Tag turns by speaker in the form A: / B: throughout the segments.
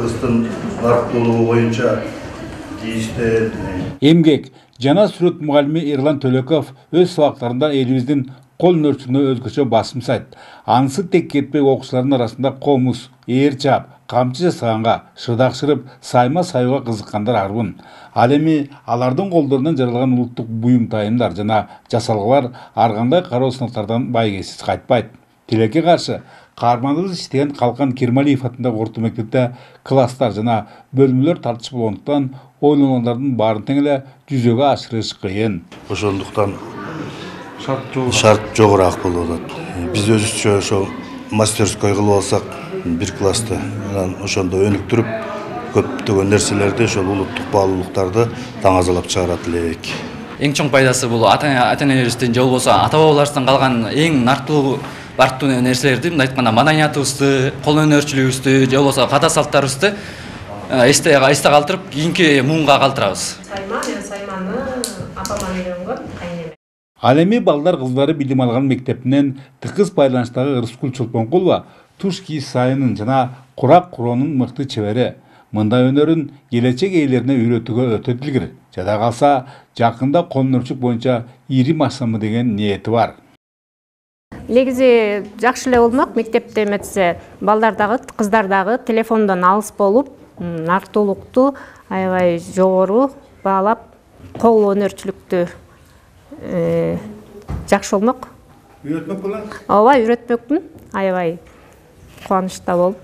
A: кыргыздын нарыктуулугу боюнча тийиштүү
B: эмгек жана сүрөт мугалими Эрлан Төлөков өз сабактарында элибиздин кол өнөрчүлүгүнө өзгөчө басым жасайт. Анысы тек кетпей окуучулардын арасында комуз, ээр чаап, камчы жасаганга, шыдак шырып, сайма саюуга кызыккандар арбын. Ал эми алардын колдорунан жаралган улуттук буюм тайымдар жана жасалгалар ар кандай кароо сынактардан байгесиз кайтпайт. Тилекке каршы каарманыбыз иштеген Калкан Кирмалиев атындагы орто мектепте класстар жана бөлмөлөр тартыш болгондуктан ойлонгондордун баарын тең эле жүзөгө ашырыш кыйын.
A: Ошондуктан шарт жогораак болуп атат. Биз өзүбүзчө ошо мастерской кылып алсак, бир класста ошондо өнүктүрүп, көптөгөн нерселерди, ошол улуттук баалуулуктарды таңазалап чыгарат элек.
C: Эң чоң пайдасы бул ата-энебиздин же болбосо ата-бабаларыбыздан калган эң нартуу бартуу нерселерди, мындай айтканда маданиятыбызды, кол өнөрчүлүгүбүздү же болбосо ката салттарыбызды эсте калтырып, кийинки муунга калтырабыз.
D: Сайманы апаман үйрөнгөн.
B: Ал эми балдар кыздары билим алган мектептинен тыкыз байланыштагы Ырыскүл Чолпонкулова туш кийиз сайынын жана курак куроонун мыкты чебери. Мындай өнөрүн келечек ээлерине үйрөтүүгө өтө дилгир. Жада калса, жакында кол өнөрчүлүк боюнча ирим ачсамбы деген ниети бар.
D: Негизи жакшы эле болмок, мектепте эметсе балдардагы, кыздардагы телефондон алыс болуп, нартуулукту аябай жогору баалап, кол өнөрчүлүктү жакшы болмок.
B: Үйрөтмөк болор?
D: Ооба, үйрөтмөкмүн. Аябай кубанычта болуп.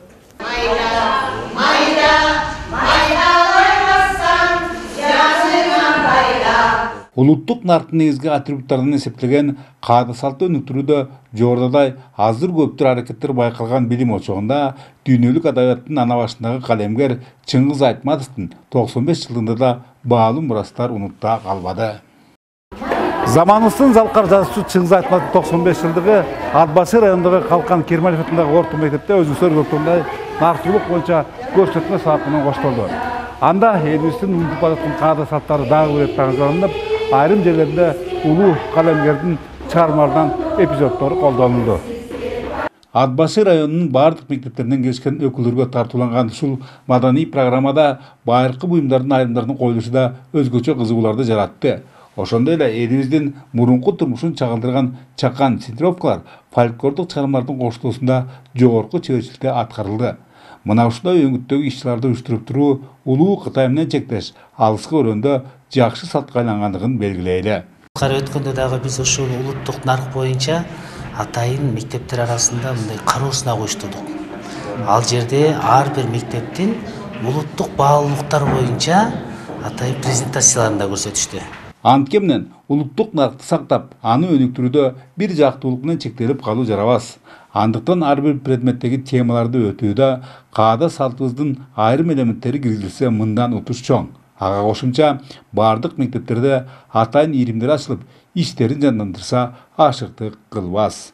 B: Улуттук нарктын негизги атрибуттарынан эсептелген каада салтты өнүктүрүүдө жогорудагы азыр көптүр аракеттер байкалган билим очогунда дүйнөлүк адабияттын ана башындагы калемгер Чыңгыз Айтматовдун 95 жылдыгында да баалуу мурастар унутта калбады. Заманыбыздын залкар жазуучу Чыңгыз Айтматовдун 95 жылдыгы Ат Башы районундагы Калкан Кирмалиев атындагы орто мектепте өзүңүздөр көргөндөй нартуулук боюнча көрсөтмө сабак менен коштолду. Анда элибиздин унутуп бараткан каада салттары дагы бир таңдалынып, айрым жерлерде улуу калемгердин чыгармаларынан эпизоддору колдонулду. Ат Башы районунун бардык мектептеринен келишкен өкүлдөргө тартууланган ушул маданий программада байыркы буюмдардын айрымдарын коюлушу да өзгөчө кызыгууларды жаратты. Ошондой эле элибиздин мурунку турмушун чагылдырган чакан синтировкалар фольклордук чыгармалардын коштоосунда жогорку чеберчиликте аткарылды. Мына ушундай өңүттөгү иш-чараларды уюштуруп туруу улуу Кытай менен чектеш алыскы өрөөндө жакшы салтка айлангандыгын белгилейли.
E: Өткөндө дагы биз ушул улуттук нарк боюнча атайын мектептер арасында мындай кароосуна коюштурдук. Ал жерде ар бир мектептин улуттук баалуулуктар боюнча атайын презентацияларын да көрсөтүштү.
B: Антке менен улуттук наркты сактап, аны өнүктүрүүдө бир жактуулук менен чектелип калуу жарабас. Андыктан ар бир предметтеги темаларды өтүүдө каада салтыбыздын айрым элементтери киргизилсе мындан утуш чоң. Ага кошумча бардык мектептерде атайын иримдер ачылып, иштерин жандандырса ашыктык кылбас.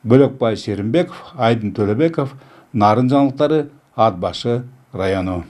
B: Бөлөкбай Шеримбеков, Айдын Төлөбеков, Нарын жаңылыктары, Ат Башы району.